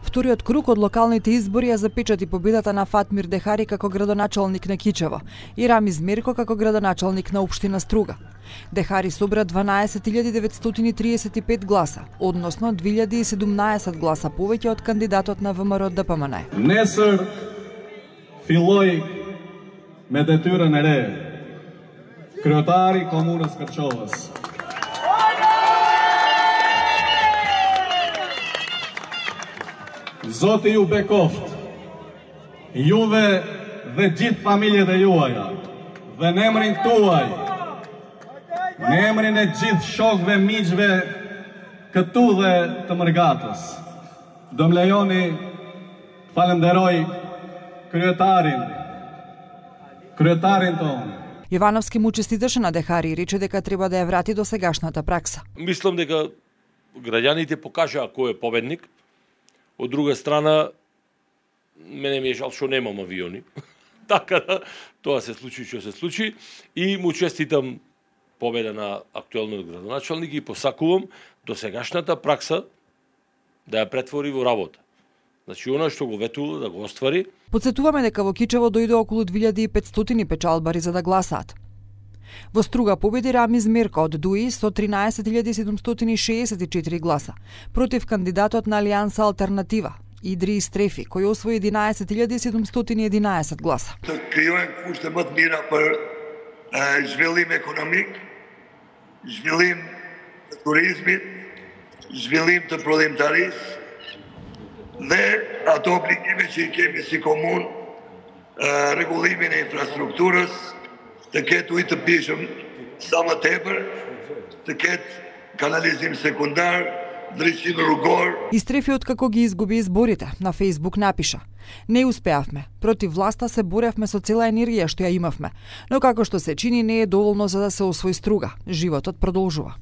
Вториот круг од локалните избори ја запечати победата на Фатмир Дехари како градоначалник на Кичево и Рамиз Мерко како градоначалник на општина Струга. Дехари собра 12.935 гласа, односно 2017 гласа повеќе од кандидатот на ВМРО ДПМН. Nesër filloi me detyrën e re, kryetari i komunës Kërçovës. Zoti ju bekoft, juve dhe gjithë familjet e juaja, dhe në emrin tuaj, në emrin e gjithë shokëve, miqve këtu dhe të Mërgatës, do më lejoni falenderoj kryetarin tonë. Јовановски му честиташе на Дехари и рече дека треба да ја врати до сегашната пракса. Мислам дека граѓаните покажаа кој е победник. Од друга страна, мене ми е жал што немам авиони. Така да, тоа се случи што се случи. И му честитам победа на актуелниот градоначалник и посакувам досегашната пракса да ја претвори во работа. Значи, она што го ветува да го оствари. Подсетуваме дека во Кичево дојде околу 2500 печалбари за да гласаат. Во Струга победи Рамиз Мерко од ДУИ со 13.764 гласа, против кандидатот на Алијанса Алтернатива, Идри Истрефи, кој освои 11.711 гласа. Të krijojnë kushte më të mira për zhvillim ekonomik, zhvillim të turizmit, zhvillim të prodhimtarisë dhe ato obligime që i kemi si komunë, rregullimin e infrastrukturës, të ketë ujë të pishëm sa më tepër, të ketë kanalizim sekundar, drejtësi rrugor. Истрефи откако ги изгуби изборите, на Facebook напиша: "Не успеавме. Против власта се боревме со цела енергија што ја имавме, но како што се чини не е доволно за да се освои Струга. Животот продолжува."